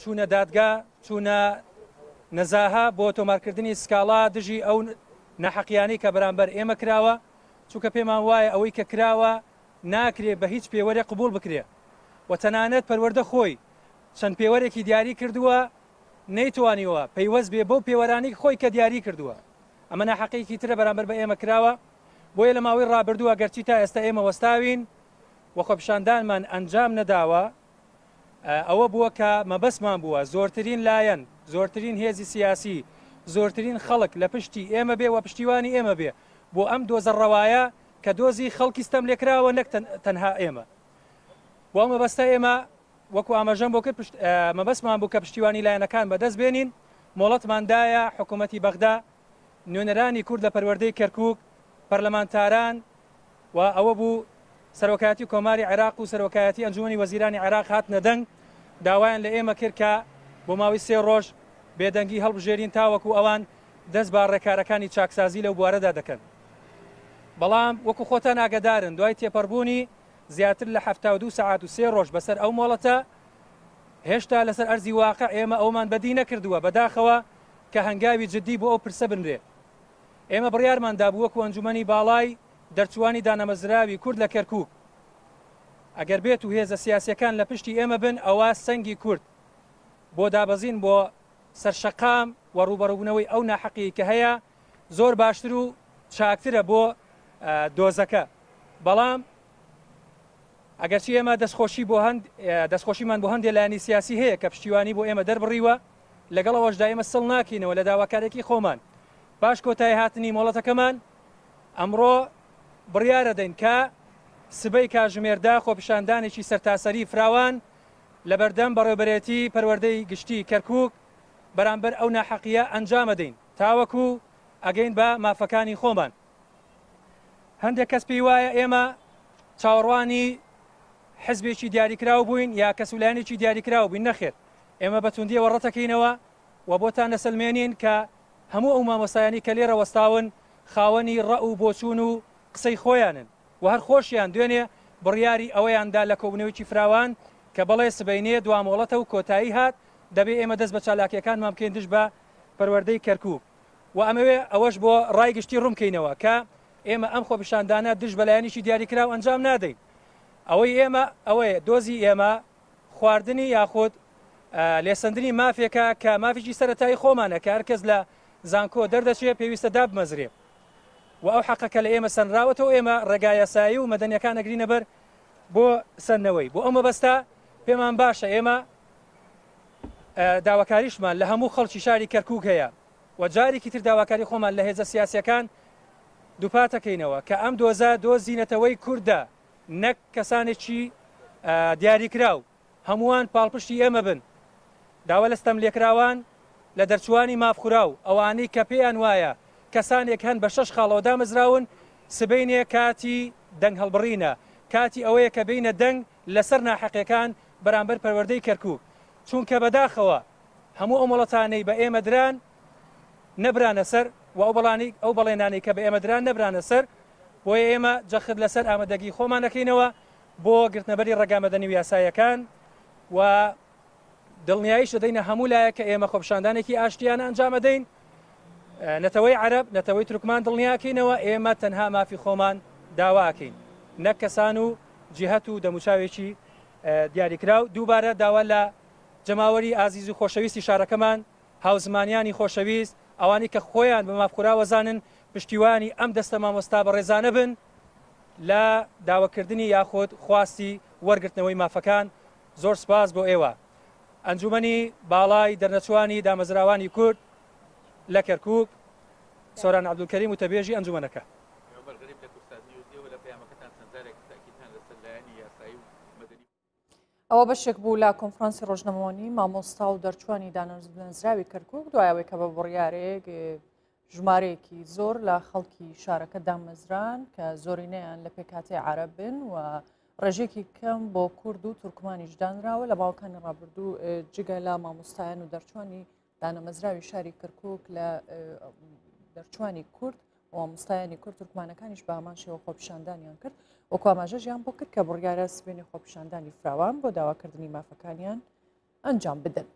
چوونە دادگا، چوونە نەزاهە بۆ تۆمارکردنی سکاڵا دژی ئەو ناحەقیانەی کە بەرامبەر ئێمە کراوە، چونکە پێمان وایە ئەوەی کە کراوە ناکرێ بە هیچ پێوەرێک قبوڵ بکرێ و تەنانەت پەروەردە خۆی چەند پێوەرێکی دیاری کردووە نەیتوانیوە پەیوەست بێ بەو پێوەرانەی خۆی کە دیاری کردووە. ئەمە ناحەقیەکی ترە بەرامبەر بە ئێمە کراوە، بۆیە لە ماوەی ڕابردوو ئەگەرچی تا ئێستا ئێمە وەستاوین و خۆپیشاندانمان ئەنجام نەداوە، ئەوە بووە کە مەبەستمان بووە زۆرترین لایەن، زۆرترین هێزی سیاسی، زۆرترین خەڵک لە پشتی ئێمە بێ و پشتیوانی ئێمە بێ بۆ ئەم دۆزە ڕەوایە کە دۆزی خەڵکی ستەملێکراوە نەک تەنها ئێمە. بۆ ئەو مەبەستە ئێمە وەکو ئاماژەم بۆ کرد مەبەستمان بوو کە پشتیوانی لایەنەکان بەدەست بێنین، مۆڵەتمان دایە حکوومەتی بەغدا، نوێنەرانی کورد لە پەروەردەی کەرکووک، پەرلەمانتاران و ئەوە بوو سەرۆکایەتی کۆماری عێراق و سەرۆکایەتی ئەنجومەنی وەزیرانی عێراق هاتنە دەنگ، داوایان لە ئێمە کرد کە بۆ ماوەی سێ ڕۆژ بێدەنگی هەڵبژێرین تاوەکو ئەوان دەست بە ڕێکارەکانی چاکسازی لەو بوارەدا دەکەن. بەڵام وەکو خۆتان ئاگەدارن دوای تێپەڕبوونی زیاتر لە 72 سەعات و سێ ڕۆژ بەسەر ئەو مۆڵەتە، هێشتا لەسەر ئەرزی واقع ئێمە ئەوەمان بەدی نەکردووە، بەداخەوە کە هەنگاوی جدی بۆ ئەو پرسە بنرێ. ئێمە بڕیارمان دابوو وەکو ئەنجومەنی باڵای دەرچووانی دانەمەزراوی کورد لە کەرکوک، ئەگەر بێت و هێزە سیاسیەکان لە پشتی ئێمە بن ئەوا سەنگی کورد بۆ دابەزین بۆ سەر شەقام و ڕووبەڕووبوونەوەی ئەو ناحەقیەی کە هەیە زۆر باشتر و چاکترە بۆ دۆزەکە. بەڵام ئەگەرچی ئێمە دەستخۆشی بۆ هەند دەستخۆشیمان بۆ هەندێ لایەنی سیاسی هەیە کە پشتیوانی بۆ ئێمە دەربڕیوە، لەگەڵ ئەوەشدا ئێمە سڵ ناکەینەوە لە داواکاریەکەی خۆمان. پاش کۆتایی هاتنی مۆڵەتەکەمان ئەمڕۆ بڕیارەدەین کە سبەی کاژمێر دە خۆپیشاندانێکی سەرتاسەری فراوان لەبەردەم بەڕێوبەرێتی پەروەردەی گشتی کەرکوک بەرامبەر ئەو ناحەقیە ئەنجامەدەین تاوەکو ئەگەین بە مافەکانی خۆمان. هەندێک کەس پێی وایە ئێمە چاوەڕوانی حزبێکی دیاریکراو بووین یا کەس و لایەنێکی دیاریکراو بووین، نەخێر ئێمە بە توندیەوە ڕەتەکەینەوە و بۆتان دەسەلمێنین کە هەموو ئەو مامۆستایانەی کە لێرە وەستاون خاوەنی ڕەئ و بۆچوون و قسەی خۆیانن و هەر خۆشیان دوێنێ بڕیاری ئەوەیان دا لە کۆبوونەوەیەکی فراوان کە بەڵێ سبەینێ دوا مۆڵەتە و کۆتایی هات دەبێ ئێمە دەست بە چالاکییەکانمان بکەین دژ بە پەروەردەی کەرکووک و ئەمەوێ ئەوەش بۆ ڕای گشتی ڕوون بکەینەوە کە ئێمە ئەم خۆپیشاندانە دژ بە لایەنێکی دیاریکراو ئەنجام نادەین ئەوەی ئێمە ئەوەیە دۆزی ئێمە خواردنی یاخود لێسەندنی مافێکە کە مافێکی سەرەتایی خۆمانە کە هەرکەس لە زانکۆ دەردەچێ پێویستە دابمەزرێ و ئەو حەقە کە لە ئێمە سەنراوەتەوە ئێمە ڕێگا یاسایی و مەدەنیەکان ئەگرینە بەر بۆ سەندنەوەی بۆ ئەو مەبەستە پێمان باشە ئێمە داواکاریشمان لە هەموو خەڵکی شاری کەرکک هەیە و جارێکی تر داواکاری خۆمان لە هێزە سیاسیەکان دووپاتەکەینەوە کە ئەم دۆزە دۆزی نەتەوەی کوردە نەک کەسانێکی دیاریکراو، هەمووان پاڵپشتی ئێمە بن. داوا لە ستەملێکراوان، لە دەرچووانی مافخوراو، ئەوانەی کە پێیان وایە کەسانێک هەن بە شەش خاڵەوە دامەزراون، سبەینێ کاتی دەنگ هەڵبڕینە، کاتی ئەوەیە کە بێینە دەنگ لەسەر ناحەقیەکان بەرامبەر پەروەردەی کەرکوک، چونکە بەداخەوە هەموو ئەو مۆڵەتانەی بە ئێمە دران نەبرانە سەر و ئەو بەڵێنانەی کە بە ئێمە دران نەبرانە سەر، بۆیە ئێمە جەخت لەسەر ئامادەگی خۆمان دەکەینەوە بۆ گرتنەبەری ڕێگا مەدەنی و یاساییەکان و دڵنیاییش دەدەینە هەموو لایەک کە ئێمە خۆپیشاندانێکی ئاشتیانە ئەنجام ئەدەین. نەتەوەی عەرەب، نەتەوەی تورکمان دڵنیاکەینەوە ئێمە تەنها مافی خۆمان داواکەین نەک کەسان و جیهەت و دەموچاوێکی دیاریکراو. دووبارە داوا لە جەماوەری ئازیز و خۆشەویستی شارەکەمان، هاوزمانیانی خۆشەویست، ئەوانەی کە خۆیان بە مافخوراوە زانن، پشتیوانی ئەم دەستە مامۆستا بەڕێزانە بن لە داواکردنی یاخود خواستی وەرگرتنەوەی مافەکان. زۆر سپاس بۆ ئێوە. ئەنجومەنی باڵای دەرنەچووانی دامەزراوانی کورد لە کەرکووک، سۆران عەبدولکەریم وتەبێژی ئەنجومەنەکە. عومەر غەریب لە کوردسات نیوز، ئێوە لە پەیامەکەتان چەند جارێک تەئکیدتان لەسەر لایەنی یاسایی و مەدەنی. ئەوە بەشێک بوو لە کۆنفرانسی ڕۆژنامەوانی مامۆستا و دەرچوانی دانەمەزراوی کەرکوک دوای ئەوەی کە بە بڕیارێک ژمارەیەکی زۆر لە خەڵکی شارەکە دامەزران کە زۆرینەیان لە پێکهاتەی عەرەبن و ڕێژێکی کەم بۆ کورد و تورکمانیش دانراوە لە باوکانی ڕابردوو جگە لە مامۆستایان و دەرچوانی دانەمەزراوی شاری کەرکک لە دەرچوانی کورد مامۆستایانی کورد تورکمانەکانیش بە هەمان شێوە خۆپیشاندانیان کرد وەکو ئاماژەژیان بۆ کرد کە بڕیارە سبێنی خۆپیشاندانی فراوان بۆ داواکردنی مافەکانیان ئەنجام بدەن.